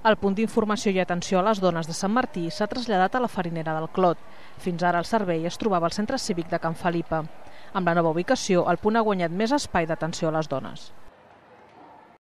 El punt d'informació i atenció a les dones de Sant Martí s'ha traslladat a la Farinera del Clot. Fins ara el servei es trobava al centre cívic de Can Felipa. Amb la nova ubicació, el punt ha guanyat més espai d'atenció a les dones.